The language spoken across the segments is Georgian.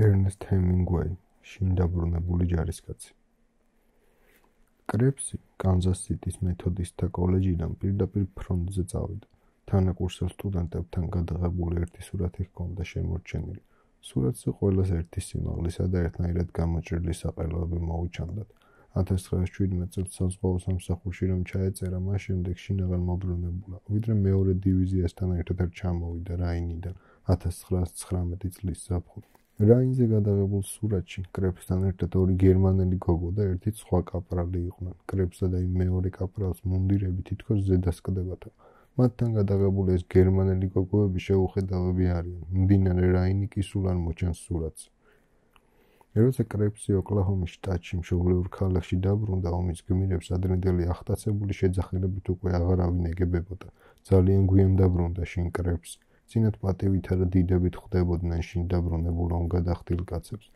ერნესტ ჰემინგვეი, შინ დაბრუნებული ჯარისკაცი. კრეფსი კანზას-სიტის მეთოდისტთა კოლეჯიდან პირდაპირ ფრონტზე წავიდა. თანაკურსელ სტუდენტებთან გადაღებული ერთი სურათი ჰქონდა შემორჩენილი. სურათზე ყველას ერთი სიმაღლისა და ერთნაირად გამოჭრილი საყელოები მოუჩანდათ. 1917 წელს საზღვაო სამსახურში რომ ჩაეწერა, მას შემდეგ შინ აღარ მობრუნებულა, ვიდრე მეორე დივიზიასთან ერთად ჩამოვიდა რაინიდან 1919 წლის ზაფხულში. რაინზე გადაღებულ სურათში კრეფსთან ერთად ორი გერმანელი გოგო და ერთი სხვა კაპრალი იყვნენ. კრეფსა და იმ მეორე კაპრალს მუნდირები თითქოს ზედასკდებათა. მათთან გადაღებული ეს გერმანელი გოგოები შეუხედავები არიან. მდინარე რაინი კი სულ არ მოჩანს სურათს. როცა კრეფსი ოკლაჰომის შტატში მშობლიურ ქალაქში დაბრუნდა, ომის გმირებს ადრინდელი ახტაცებული შეძახილებით უკვე აღარავინ ეგებებოდა. ძალიან გვიან დაბრუნდა შინ კრეფსი. წინათ პატივითა და დიდებით ხვდებოდნენ შინ დაბრუნებულ ომგადახდილ კაცებს.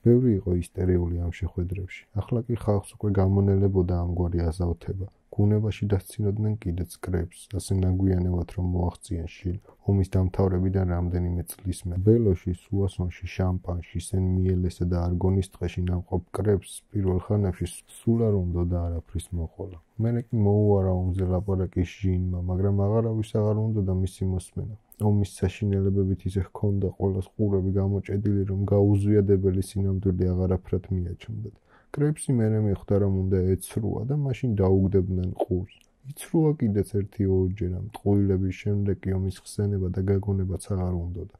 ბევრი იყო ისტერიული ამ შეხვედრებში. ახლა კი ხალხს უკვე გამონელებოდა ამგვარი აზავთება. გუნებაში დასცინოდნენ კიდეც კრეფსს, ასე ნაგვიანებად რომ მოაღწიან შინ. ომის დამთავრებიდან რამდენიმე წლის მერე. ბელოში, სუასონში, შამპანში, სენ-მიელესა და არგონის ტყეში ნამყოფ კრეფსს პირველ ხანებში სულ არ უნდოდა არაფრის მოყოლა. მერე კი მოუარა ომზე ლაპარაკი ჟინმა, მაგრამ აღარავის აღარ უნდოდა მისი მოსმენა. ომის საშინელებებით ისე ჰქონდა ყველას ყურები გამოჭედილი, რომ გაუზვიადებელი სინამდვილე აღარაფრად მიაჩნდათ. კრეფსი მერე მიხვდა, რომ უნდა ეცრუა და მაშინ დაუგდებდნენ ყურს. იცრუა კიდეც ერთი-ორჯერ, ტყუილების შემდეგ კი ომის ხსენება და გაგონებაც აღარ უნდოდა.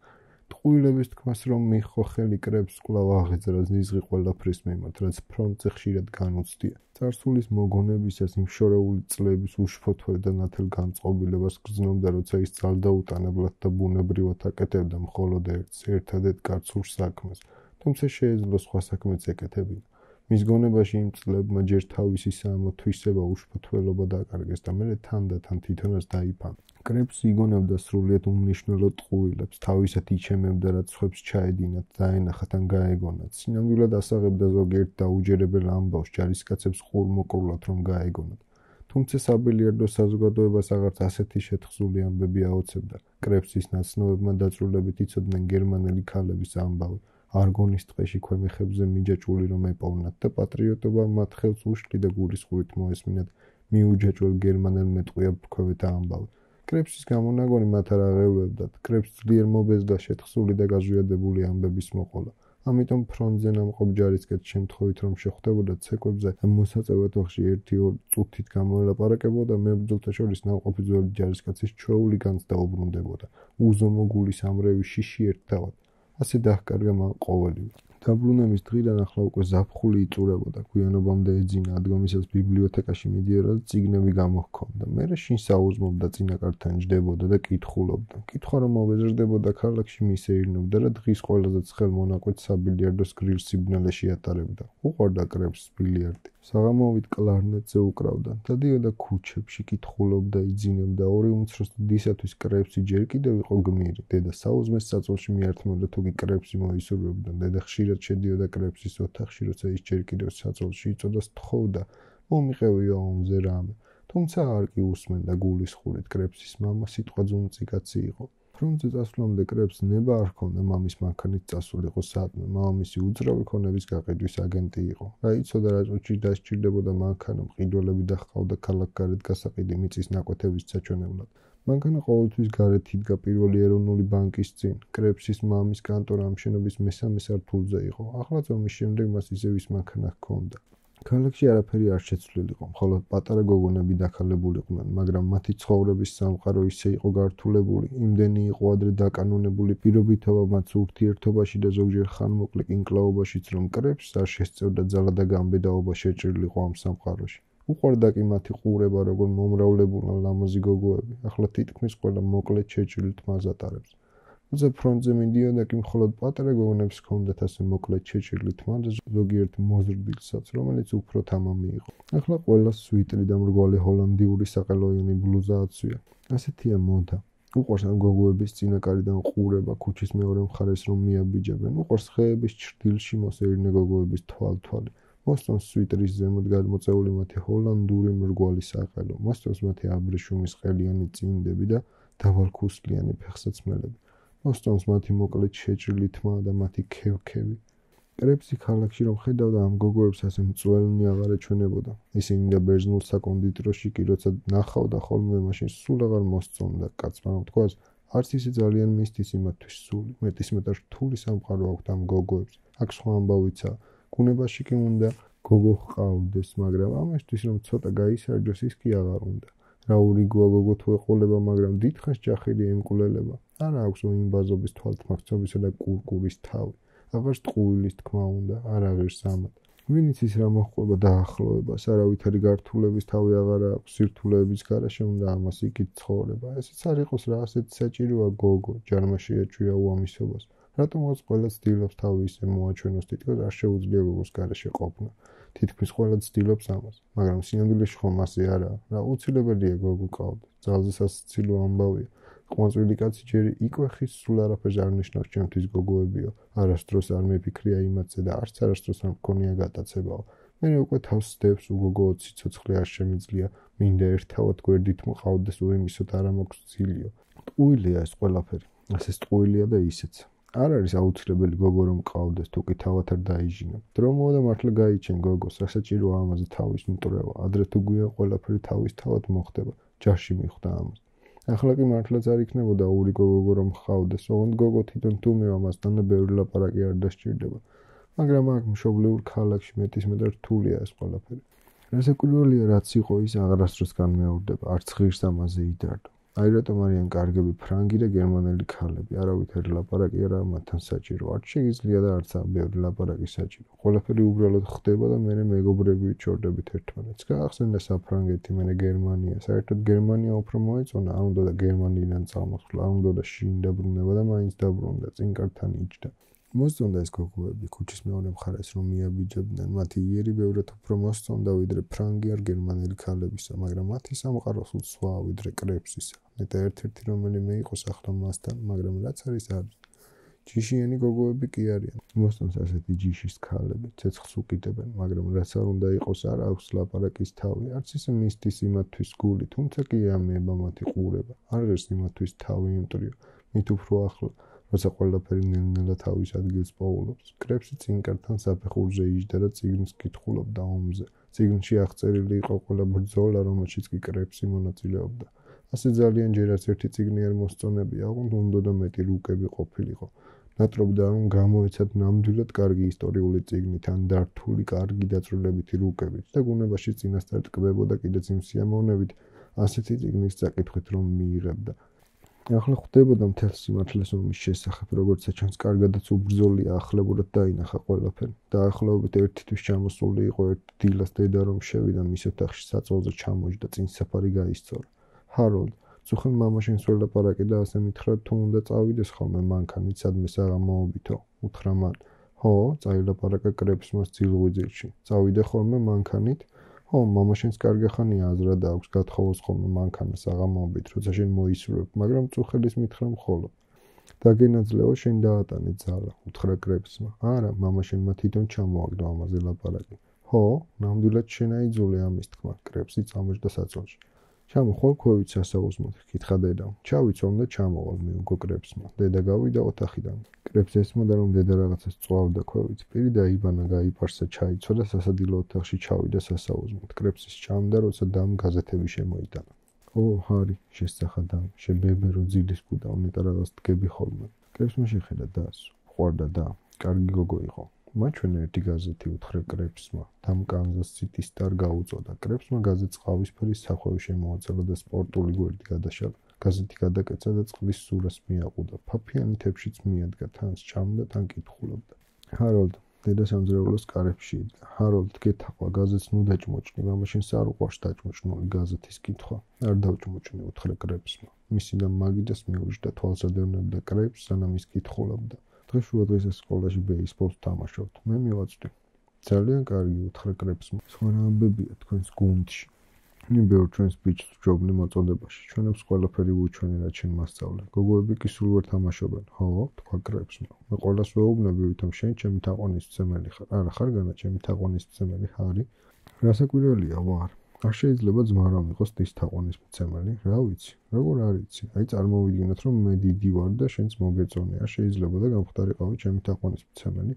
ტყუილების თქმას რომ მიჰყო ხელი, კრეფსს კვლავ აღეძრა ნიზღი ყველაფრის მიმართ, რაც ფრონტზე ხშირად განუცდია. წარსულის მოგონებისას იმ შორეული წლების უშფოთველ და ნათელ განწყობილებას გრძნობდა, როცა ის ძალდაუტანებლად და ბუნებრივად აკეთებდა მხოლოდ ერთადერთ კაცურ საქმეს, თუმცა შეეძლო სხვა საქმეც ეკეთებინა. მის გონებაში იმ წლებმა ჯერ თავისი საამო თვისება უშფოთველობა დაკარგეს და მერე თან და თან თვითონაც დაიფანტა. კრეფსი იგონებდა სრულიად უმნიშვნელო ტყუილებს, თავისად იჩემებდა, რაც სხვებს ჩაედინათ, დაენახათ ან გაეგონათ. სინამდვილად ასაღებდა ზოგიერთ დაუჯერებელ ამბავს, ჯარისკაცებს ყურმოყრულად რომ გაეგონათ. თუმცა საბილიარდო საზოგადოებას აღარც ასეთი შეთხზული ამბები აოცებდა. კრეფსის ნაცნობებმა დაწვრილებით იცოდნენ გერმანელი ქალების ამბავი. არგონის ტყეში ქვემეხებზე მიჯაჭვული რომ ეპოვნათ და პატრიოტობა მათ ხელს უშლი და გულისხმობით მოესმინათ მიუჯაჭველ გერმანელ მეტყვია ბრძქვევეთა ამბავი. კრეფსის გამონაგონი მათ არ აღელვებდათ. კრეფსს ძლიერ მობეზდა შეთხზული და გაზვიადებული ამბების მოყოლა. ამიტომ ფრონტზე ნამყოფ ჯარისკაცს შემთხვევით რომ შეხვდებოდა ცეკვებზე და მოსაწევად ვახში 1-2 წუთით გამოელაპარაკებოდა, მებრძოლთა შორის ნამყოფი ძველი ჯარისკაცის ჩვეული განცდა უბრუნდებოდა. უზომო გულის ამრევი შიში ერთთავად. ასე დაჰკარგა მან ყოველივე. დაბრუნების დღიდან ახლა უკვე ზაფხული იწურებოდა, გვიანობამდე ეძინა, ადგომისას ბიბლიოთეკაში მიდიოდა და წიგნები გამოჰქონდა. მერე შინ საუზმობდა წინაკართან ჯდებოდა და კითხულობდა. კითხვა რომ მოვეზრდებოდა ქალაქში, მის ეირნობდა და დღის ყველაზე ცხელ მონაკვეთს საბილიარდოს გრილ სიბნელეში ატარებდა. უყვარდა კრეფსს ბილიარდი. საღამოვით კლარნეტზე უკრავდა. დადიოდა ქუჩებში, კითხულობდა, იძინებდა. ორი უმცროს დისათვის კრეფსი ჯერ კიდევ იყო გმირი. დედა საუზმეს საწოლში მიართმევდა, თუ კი კრეფსი მოისურვებდა. დედა ხშირად შედიოდა კრეფსის ოთახში, როცა ის ჯერ კიდევ საწოლში იწოდა, სთხოვდა, მომიყევია ომზე რამე. თუმცა არ კი უსმენდა გულისხმობით. კრეფსის მამა სიტყვაძუნწი კაცი იყო. ფრონტზე წასვლამდე კრეფსს ნება არ ჰქონდა მამის მანქანით წასულიყო საათმე. მამამისი უძრავი ქონების გაყიდვის აგენტი იყო. რაიცოდა რა წუთში დასჭირდებოდა მანქანა, მყიდველები დაჰყავდა ქალაქგარეთ გასაყიდი მიწის ნაკვეთების საჩვენებლად. მანქანა ყოველთვის გარეთ იდგა პირველი ეროვნული ბანკის წინ. კრეფსის მამის კანტორა ამ შენობის მესამე სართულზე იყო. ახლა ომის შემდეგ მას ისევ ის მანქანა ჰქონდა. ქალაქში არაფერი არ შეცვლილიყო, მხოლოდ პატარა გოგონები დაქალებულიყვნენ, მაგრამ მათი ცხოვრების სამყარო ისე იყო გართულებული, იმდენი იყო ადრე დაკანონებული პირობითობა მათ ურთიერთობაში და ზოგჯერ ხანმოკლე კინკლაობაშიც, რომ კრეფსს არ შესწევდა ძალა და გამბედაობა შეჭრილიყო ამ სამყაროში. უყვარდა კი მათი ყურება, როგორ მომრავლებულან ლამაზი გოგოები, ახლა თითქმის ყველა მოკლედ შეჭრილ თმას ატარებს. როცა ფრონტზე მიდიოდა კი მხოლოდ პატარა გოგონებს ჰქონდათ ასე მოკლედ შეჭრილი თმა და ზოგიერთ მოზრდილსაც, რომელიც უფრო თამამი იყო. ახლა ყველას სვიტრი და მრგვალი ჰოლანდიური საყელოიანი ბლუზა აცვია. ასეთია მოდა. უყვარს ამ გოგოების წინაკარიდან ყურება, ქუჩის მეორე მხარეს რომ მიაბიჯებენ. უყვარს ხეების ჩრდილში მოსეირნე გოგოების თვალთვალი. მოსწონს სვიტრის ზემოთ გადმოწეული მათი ჰოლანდური მრგვალი საყელო. მოსწონს მათი აბრეშუმის ყელიანი წინდები და დავალქუსლიანი ფეხსაცმელები. მოსწონს მათი მოკლედ შეჭრილი თმა და მათი ქევქევი. კრეფსი ქალაქში რომ ხედავდა ამ გოგოებს ასე მწველნი აღარ ეჩვენებოდა. ისინი და ბერძნულ საკონდიტროში კი როცა ნახავდა ხოლმე, მაშინ სულ აღარ მოსწონდა კაცმა რომ თქვას, არც ისე ძალიან მისთვის იმათთვის სული. მეტისმეტად რთული სამყარო აქვთ ამ გოგოებს. აქ სხვა ამბავიცა. გუნებაში კი უნდა გოგო ჰყავდეს, მაგრამ ამისთვის რომ ცოტა გაისარჯოს, ის კი აღარ უნდა. რა ურიგოა გოგო თუ ეყოლება, მაგრამ დიდხანს ჯახილი ემკვლელება. არა აქვს უიმბაზობის თვალთმაქცობისა და კურკურის თავი. აღარც ტყუილის თქმა უნდა, არ აღირს ამად. ვინც ის რა მოჰყვება დაახლოებას, არავითარი გართულების თავი აღარ აქვს, სირთულეების გარეშე უნდა ამას იქით ცხოვრება. ესეც არ იყოს რა, ასეთ საჭიროა გოგო, ჯარმა შეაჩვია უამისობას. რატომღაც ყველა ცდილობს თავი ისე მოაჩვენოს, თითქოს არ შეუძლია გოგოს გარეშე ყოფნა. თითქმის ყველა ცდილობს ამას, მაგრამ სინამდვილეში ხომ ასე არაა. რა უცილებელია გოგო ყავდეს, ძალზე სასაცილო ამბავია. ყვანწვილი კაცი ჯერ იქვე ხის სულ არაფერს არ ნიშნავს ჩემთვის გოგოებიო. არასდროს არ მიფიქრია იმათზე და არც არასდროს არ მქონია გატაცებაო. მე უკვე თავს სდევს უგოგო 20 ცოცხლი არ შემიძლია, მინდა ერთავად გვერდით მყავდეს უიმისოთ არ ამოქვს ძილიო. ტყუილია ეს ყველაფერი, ასეც ტყუილია და ისეც. არ არის აუცილებელი გოგო რომ ყავდეს, თუ კი თავად არ დაიჟინებ. დრო მოვა და მართლა გაიჩენ გოგოს, რა საჭიროა ამაზე თავის მტრევა. ადრე თუ გვიან ყველაფერი თავის თავად მოხდება, ჯარში მიხვდა ამას. ახლა კი მართლაც არ იქნებოდა ურიგო გოგო რომ ჰყავდეს, ოღონდ გოგო თვითონ თუმე ამასთან და ბევრი ლაპარაკი არ დასჭირდება. მაგრამ აქ მშობლიურ ქალაქში მეტისმეტად რთულია ეს ყველაფერი. რასაკვირველია, რაც იყო ის აღარასდროს განმეორდება, არც ღირს ამაზე იდარდო. აი რატომ არიან კარგები ფრანგი და გერმანელი ქალები, არავითარი ლაპარაკი არა მათთან საჭირო, არც შეგიძლია და არც ბევრი ლაპარაკი საჭირო. ყველაფერი უბრალოდ ხდება და მე მეგობრები ვიჩორდებით ერთმანეთს. გაახსენდა საფრანგეთი, მე გერმანია. საერთოდ გერმანია უფრო მოეწონა, არ უნდა და გერმანიიდან წამოსვლა, არ უნდა და შინ დაბრუნება და მაინც დაბრუნდა, წინკართან იჯდა. მოსწონდა ეს გოგოები ქუჩის მეორე მხარეს რომ მიაბიჯებდნენ, მათი იერი ბევრად უფრო მოსწონდა ვიდრე ფრანგი არ გერმანელი ქალებისა, მაგრამ მათი სამყარო სულ სხვაა ვიდრე კრეფსისა. ნეტა ერთ-ერთი რომელიმე იყოს ახლა მასთან, მაგრამ რაც არის არის. ჯიშიანი გოგოები კი არიან. მოსწონს ასეთი ჯიშის ქალები, ცეცხლს უკიდებენ, მაგრამ რაც არ უნდა იყოს, არ აქვს ლაპარაკის თავი, არც ისე მისთვის იმათთვის გული, თუმცა კი ამება მათი ყურება. არ ღირს იმათთვის თავი იმტრიო, მით უფრო ახლა როცა ყველაფერი ნელ-ნელა თავის ადგილს პოულობს. კრეფსი წინკართან საფეხურზე იჯდა და წიგნს კითხულობდა ომზე. წიგნში აღწერილი იყო ყველა ბრძოლა, რომელშიც კი კრეფსი მონაწილეობდა. ასე ძალიან ჯერ არც ერთი წიგნი არ მოსწონებია, ოღონდ უნდა და მეტი რუკები ყოფილიყო. ნატრობდა რომ გამოეცათ ნამდვილად კარგი ისტორიული წიგნით, ან დართული კარგი დაწვრილებითი რუკებით და გუნებაში წინასწარ ტკბებოდა კიდეც იმ სიამოვნებით, ასეთი წიგნის წაკითხვით რომ მიიღებდა. ახლა ხვდებოდა მთელ სიმართლეს ომის შესახებ, როგორც ჩანს, კარგადაც უბრძოლია, ახლებურად დაინახა ყველაფერი. დაახლოებით ერთი თვის ჩამოსული იყო ერთ დილას დედა რომ შევიდა მის ოთახში საწოლზე ჩამოჯდა, წინ საფარი გაისწორა. ჰაროლდ, წუხენ მამაშენს ველაპარაკე და ასე მითხრა თუ უნდა წავიდეს ხოლმე მანქანით, სადმე საღამოობითო, უთხრა მან. ხო, წაილაპარაკა კრეფსმა ძილღვიძილში. წავიდე ხოლმე მანქანით? ხო, მამაშენს კარგი ხანია აზრად აქვს, გათხოვოს ხოლმე მანქანა საღამოობით, როცა შენ მოისურვებ, მაგრამ წუხელის მითხრა მხოლოდ. დაგენაძლეო, შენ დაატანე ძალა, უთხრა კრეფსმა. არა, მამაშენმა თვითონ ჩამოაგდო ამაზე ლაპარაკი. ხო, ნამდვილად შენ აიძულე ამის თქმა, კრეფსი წამოჯდა საწოლში. ჩამოხვალ ქვევით სასაუზმოდ, კითხა დედამ. ჩავიცვალ და ჩამოვალ მიუგო კრეფსმა. დედა გავიდა ოთახიდან. კრეფს ესმოდა რომ დედა რაღაცას წვავდა ქვევით. პირი დაიბანა, გაიპარსა, ჩაიცვა და სასადილო ოთახში ჩავიდა სასაუზმოდ. კრეფსის ჭამდა, როცა დამ გაზეთები შემოიტანა. ო, ჰარი, შესახა დამ, შებებერო ძილის კუდა, ნეტა რაღაც დგები ხოლმე. კრეფსმა შეხედა დას, ყვარდა და, კარგი გოგო იყო. მაჩვენე ერთი გაზეთი, უთხრა კრეფსმა. დამ კანზას სიტი სტარ გაუწოდა. კრეფსმა გაზეთს ყავისფერი სახვევი შემოაწელა და სპორტული გვერდი გადაშალა. გაზეთი გადაკეცა და წყლის სურას მიაყუდა. ფაფიანი თებშიც მიადგა, თანს ჭამდა, თან კითხულობდა. ჰაროლდ, დედა სამძრაულოს კარებში იდგა. ჰაროლდ, გეთახვა, გაზეთს ნუ დაჭმოჭნი, მამაშენს არ უყვარს დაჭმოჭნული გაზეთის კითხვა. არ დავჭმოჭნი, უთხრა კრეფსმა. მისი და მაგიდას მიუჯდა, თვალს ადევნებდა კრეფს, სანამ ის კითხულობდა. დღეს შუადღეზე სკოლაში ბეისბოლს თამაშობთ. მე მივაწვდი. ძალიან კარგი, უთხრა კრეფსმა. სხვა რა ამბებია თქვენს გუნდში? ნი ბევრ ჩვენს ბიჭს ვჯობნი მოწოდებაში. ჩვენებს ყველაფერი ვუჩვენე, რაც შენ მასწავლე. გოგოები კი სულ ვერ თამაშობენ. ხო, თქვა კრეფსმა. მე ყველას ვეუბნები, ვითომ შენ ჩემი თაყვანისმცემელი ხარ. არა, ხარ განა ჩემი თაყვანისმცემელი ჰარი? რასაკვირველია, ვარ. არ შეიძლება ძმა რომ იყოს დის თაყვანის მცემელი, რა ვიცი, როგორ არ იცი. აი წარმოვიდგინოთ რომ მე დიდი ვარ და შენც მოგეწონე, არ შეიძლება და გამხდარიყავი ჩემი თაყვანის მცემელი.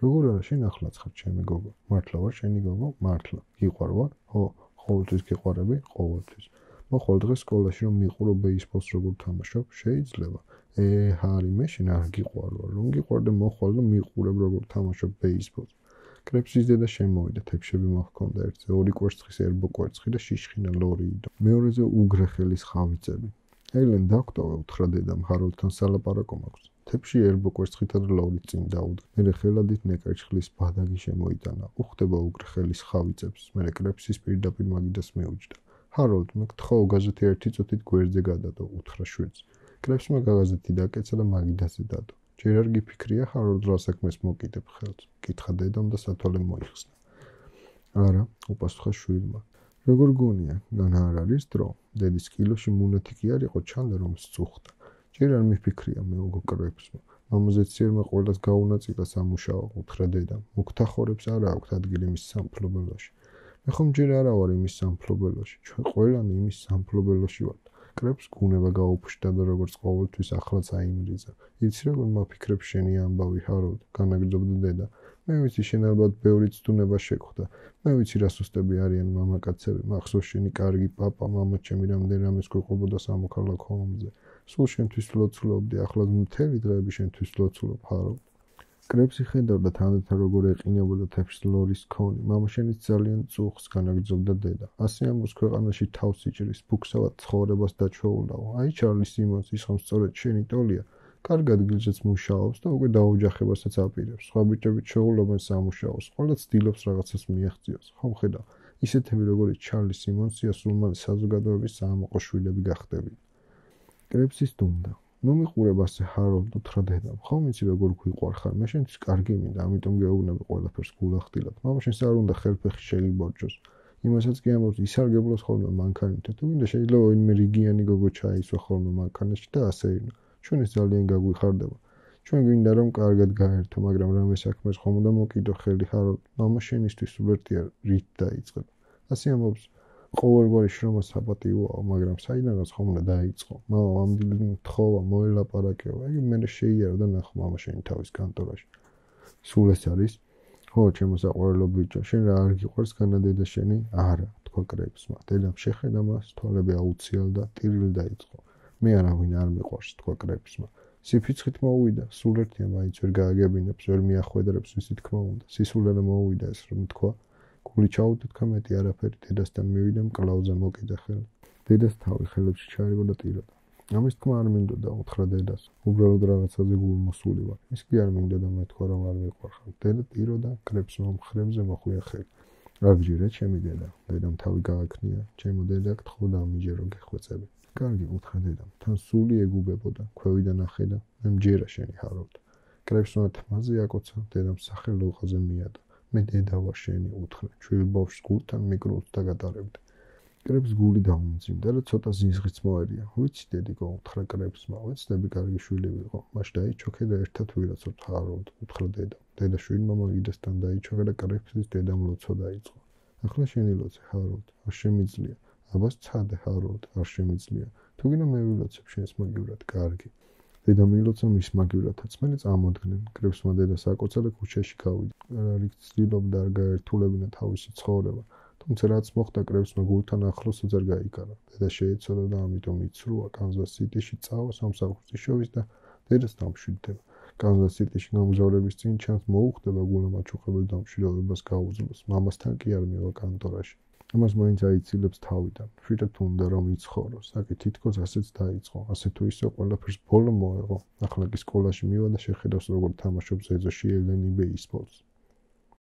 როგორ არა, შენ ახლაც ხარ ჩემი გოგო. მართლა ვარ შენი გოგო? მართლა. გიყვარ ვარ? ხო, ყოველთვის გიყვარები, ყოველთვის. მოხვალ დღეს სკოლაში რომ მიყურო ბეისბოლს როგორ თამაშობ, შეიძლება. ჰარი, მე შენ არ გიყვარ ვარ. რომ გიყვარდე მოხვალ და მიყურებ როგორ თამაშობ ბეისბოლს. კრეფსის დედა შემოვიდა, თეფშები მოჰქონდა ერთზე, ორი კვერცხის ერბო კვერცხი და შიშხინა ლორიიდო. მეორეზე უგრეხელის ხავიწები. ელენ დაგტოვე, უთხრა დედამ, ჰაროლდთან სალაპარაკო მაქვს. თეფში ერბო კვერცხითა და ლორით წინ დაუდგა. მერე ხელადით ნეკერჩხლის ბადაგი შემოიტანა. უხდება უგრეხელის ხავიწებს. მერე კრეფსის პირდაპირ მაგიდას მეუჯდა. ჰაროლდ, მე გთხოვ, გაზეთი ერთი წუთით გვერდზე გადადო, უთხრა შვედს. კრეფსმა გაზეთი დაკეცა და მაგიდაზე დადო. ჯერ არ გიფიქრია ჰაროლდ რა საქმეს მოკიდებ ხელს? კითხა დედამ და სათვალე მოიხსნა. არა, უპასუხა შვილმა. როგორ გონია, განა არ არის დრო? დედის კილოში მუნეთი კი არ იყო, ჩანდა რომ სწუხდა. ჯერ არ მიფიქრია მეუღო კრეფსმა. მამაზეც სიერმა ყველას გაუნაწილა სამუშაო, უთხრა დედამ. მუქთახორებს არა აქვთ ადგილი მის სამფლობელოში. მე ხომ ჯერ არა ვარ იმის სამფლობელოში, ჩვენ ყველანი იმის სამფლობელოში ვართ. კრეფს გუნება გაუფშდა და როგორც ყოველთვის ახლაც აიმრიძა. იცი როგორ მაფიქრებ შენი ამბავი ჰაროლდ, განაგრძობდა დედა. მე ვიცი შენ ალბათ ბევრი ცდუნება შეგხვდა. მე ვიცი რა სუსტები არიან მამაკაცები, მახსოვს შენი კარგი პაპა, მამა ჩემი რამდენ რამეს გვეყობოდა სამოქალაქო ომზე. სულ შენთვის ვლოცულობდი, ახლა მთელი დღეები შენთვის ვლოცულობ ჰაროლდ. კრეფსი ხედავდა თანდათან როგორ ეყინებოდა თეფშს ლორის ქონი. მამა შენიც ძალიან წუხს, განაგრძობდა დედა. ასე ამბობს ქვეყანაში თავს იჭრის, ფუქსავად ცხოვრებას დაჩვეულაო. აი ჩარლი სიმონს ის ხომ სწორედ შენი ტოლია. კარგ ადგილზეც მუშაობს და უკვე დაოჯახებასაც აპირებს. სხვა ბიჭები ჩვეულობენ სამუშაოს, ყველა ცდილობს რაღაცას მიაღწიოს. ხომ ხედავ, ისეთები როგორც ჩარლი სიმონსია სულ მალე საზოგადოების საამაყო შვილები გახდებიან. კრეფსის დუმდა. ნუ მიყურებ ასე ჰაროლდ, უთხრა დედამ. ხომ იცი როგორ გვიყვარ ხარ, მე შენთვის კარგი მინდა, ამიტომ გეუბნები ყველაფერს გულახდილად. მამა შენს არ უნდა ხელფეხი შეგიბორჯოს. იმასაც კი ამბობს, ისარგებლოს ხოლმე მანქანით. თუ გინდა შეიძლება ვინმე რიგიანი გოგო ჩაისვა ხოლმე მანქანაში და ასე ინა. ჩვენ ეს ძალიან გაგვიხარდება. ჩვენ გვინდა რომ კარგად გაერთო, მაგრამ რამე საქმეს ხომ უნდა მოკიდო ხელი ჰაროლდ. მამა შენისთვის უბრალოდ რით დაიწყება. ასე ამბობს, ყოველგვარი შრომა საპატიოა, მაგრამ საიდანაც ხომ უნდა დაიწყო. მამა ამდილი მთხოვა, მოელაპარაკეო. იგი მერე შეიარა და ნახო მამა შენი თავის კანტორაში. სულ ეს არის? ხო, ჩემო საყვარელო ბიჭო, შენ რა არ გიყვარს განა დედა შენი? არა, თქვა კრეფსმა. დედამ შეხედა მას, თვალები აუციალდა, ტირილი დაიწყო. მე არავინ არ მიყვარს, თქვა კრეფსმა. სიფიცხით მოუვიდა, სულ ერთია მაინც ვერ გააგებინებს, ვერ მიახვედრებს ვისი თქმა უნდა. სისულელე მოუვიდა ეს რომ თქვა. გული ჩაუდეთქა მეტი არაფერი, დედასთან მივიდა მკლავზე მოკიდა ხელი. დედას თავი ხელებში ჩაიგო და ტიროდა. ამის თქმა არ მინდოდა, უთხრა დედას. უბრალოდ რაღაცაზე გულმოსული ვარ. ის კი არ მინდოდა მეთქვა რომ არ მიყვარხარ. დედა ტიროდა, კრეფსმა მხრებზე მოხვია ხელი. რა გჯერა ჩემი დედა? დედამ თავი გააქნია. ჩემო დედა, გთხოვდა ამიჯერო გეხვეწები. კარგი, უთხრა დედამ. თან სული ეგუგებოდა, ქვევიდან ახედა. მე მჯერა შენი ჰაროლდ. კრეფსმა თმაზე აკოცა, დედამ სახელოყაზე მიადა. მე დედა ვარ შენი, უთხრა. ჩვილი ბავშვს გულთან მიკრულს დაგატარებდი. კრეფს გული დაუმძიმდა და ცოტა ზიზღიც მოერია. ვიცი დედიკო, უთხრა კრეფსმა, ვეცდები კარგი შვილი ვიყო. მას დაიჩოქე და ერთად ვირაცოთ ჰაროლდ, უთხრა დედა. დედა შვილმა მაგიდასთან დაიჩოქე და კრეფსის დედამ ლოცვა დაიწყო. ახლა შენი ლოცე ჰაროლდ, არ შემიძლია. აბას ცადე ჰაროლდ, არ შემიძლია. თუ გინდა მე ვილოცებ შენს მაგივრად, კარგი. დედა მილოცა მის მაგივრადაც, მერე წამოდგნენ. კრეფსმა დედას აკოცა და ქუჩაში გავიდა. რიგ ცდილობდა არ გაერთულებინა თავისი ცხოვრება. თუმცა რაც მოხდა კრეფსმა გულთან ახლოსაც არ გაიკარა. დედა შეეცოდა და ამიტომ იცრუა კანზას სიტიში წავა სამსახურში შოვის და დედას დამშვიდდება. კანზას სიტიში გამგზავრების წინ ჩანს მოუხდება გულამაჩუყებელ დამშვიდობებას გაუძლოს. მამასთან კი არ მივა კანტორაში. ამას მაინც აიცილებს თავიდან. შვიდად უნდა რომ იცხოვროს. აკი თითქოს ასეც დაიწყო. ასე თუ ისე ყველაფერს ბოლო მოეღო. ახლა კი სკოლაში მივა და შეხედავს როგორ თამაშობს ეზოში ელენი ბეისბოლს.